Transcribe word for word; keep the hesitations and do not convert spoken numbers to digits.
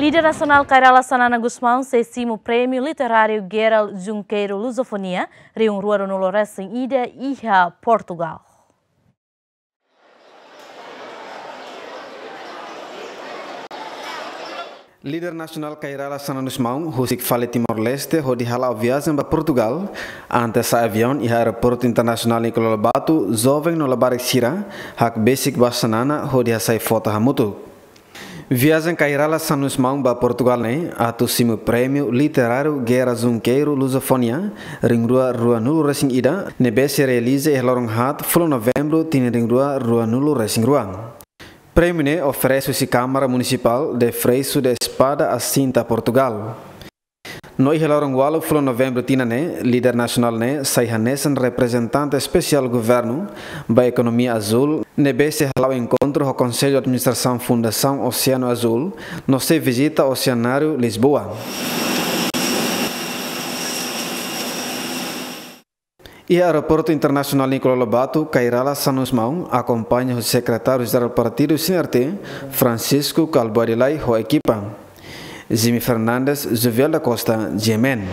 Líder nasionál Kay Rala Xanana Gusmão sei simu Prémiu Literáriu Guerra Junqueiro Lusofonia rihun rua ruanulu resin ida iha Portugal. Líder nasionál Kay Rala Xanana Gusmão husik fali Timor-Leste hodi hala'o viajen ba Portugal. Antes sa'e aviaun iha Aeroportu Internasionál Nicolau Lobato, joven no labarik sira hakbesik ba Xanana hodi hasai foto hamutuk. Viajen Kay Rala Xanana Gusmão ba Portugal ne'e atu simu Prémiu Literáriu Guerra Junqueiro Lusofonia rihun rua ruanulu resin ida ne'ebé sei realiza iha loron haat fulan Novembru tinan rihun rua ruanulu resin rua. Prémiu ne'e oferese husi Câmara Municipal de Freixo de Espada à Cinta, Portugal. No iha loron ualu fulan Novembru tinan ne'e, líder nasionál ne'e sai hanesan reprezentante espesiál governu ba ekonomia azúl, ne'ebé sei hala'o enkontru ho Konsellu Administrasaun Fundasaun Oseanu Azúl, no sei vizita Oseanáriu Lisboa. Iha Aeroportu Internasionál Nicolau Lobato, Kay Rala Xanana Gusmão akompaña ho Sekretáriu Jerál Partidu C N R T, Francisco Kalbuadi Lay ho ekipa. Jimmy Fernandes, Jovial da Costa, G M N.